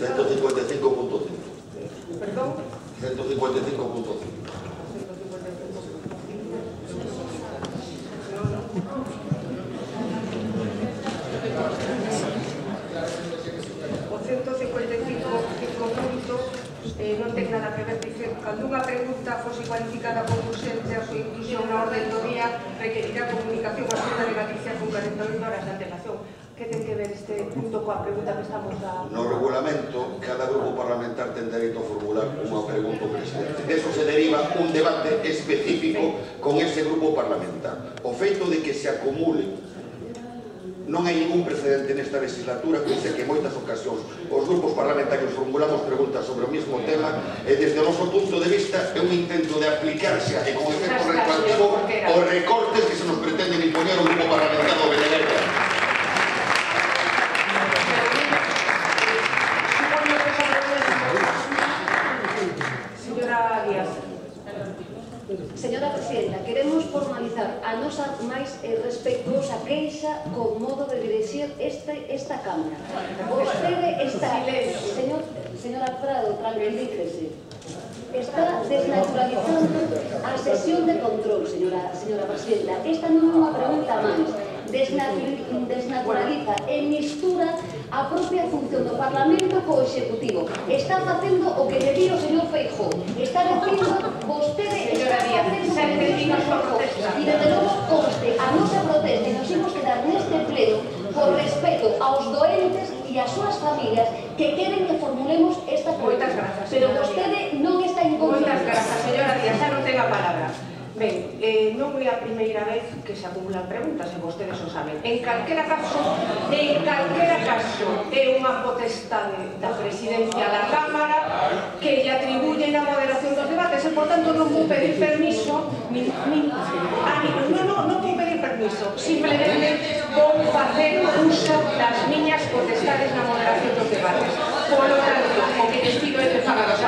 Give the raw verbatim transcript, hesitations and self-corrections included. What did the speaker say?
ciento cincuenta y cinco punto cinco. Perdón? ciento cincuenta y cinco punto cinco. O ciento cincuenta y cinco punto eh, non ten nada que ver, dice, cando unha pregunta fose cualificada como urxente a súa inclusión na orden do día requerirá comunicación á Xunta de Galicia con corenta e oito horas de antelación. Que ten que ver este punto coa pregunta que estamos a... No regulamento, cada grupo parlamentar ten dereito a formular unha pregunta ao presidente. De eso se deriva un debate específico con ese grupo parlamentar. O feito de que se acumule, non hai ningún precedente nesta legislatura, que dice que en moitas ocasións os grupos parlamentarios formulamos preguntas sobre o mesmo tema e desde o noso punto de vista é un intento de aplicarse e con efecto retroactivo os recortes que se nos pretenden impoñer o grupo parlamentario de Benedeira. Señora Díaz. Señora Presidenta, queremos formalizar a nosa máis respetuosa queixa con modo de dirixir este, esta Cámara. Vostede está... Señor, señora Prado, tranquilícese. Está desnaturalizando a sesión de control, señora, señora Presidenta. Esta non é unha pregunta máis. Desnaturaliza e mistura a propia función do Parlamento co Executivo. Está facendo o que lle di o señor Feijóo. Está dicindo, vostede está facendo o que lle di o señor Feijóo. E desde logo conste a nosa protesta e nos imos quedar neste pleno por respeto aos doentes e ás súas familias que queren que formulemos esta pregunta. Pero vostede non está en confianza. Moitas grazas, señora Díaz, xa non ten a palabra. Ben, eh, non é a primeira vez que se acumulan preguntas, e vostedes o saben. En calquera caso, en calquera caso, é unha potestade da presidencia da Cámara que lle atribuyen a moderación dos debates, e, por tanto, non vou pedir permiso, nin, nin, a ningún, non, non, non vou pedir permiso, simplemente vou facer uso das miñas potestades na moderación dos debates. Por lo tanto, o que les pido é que fagan os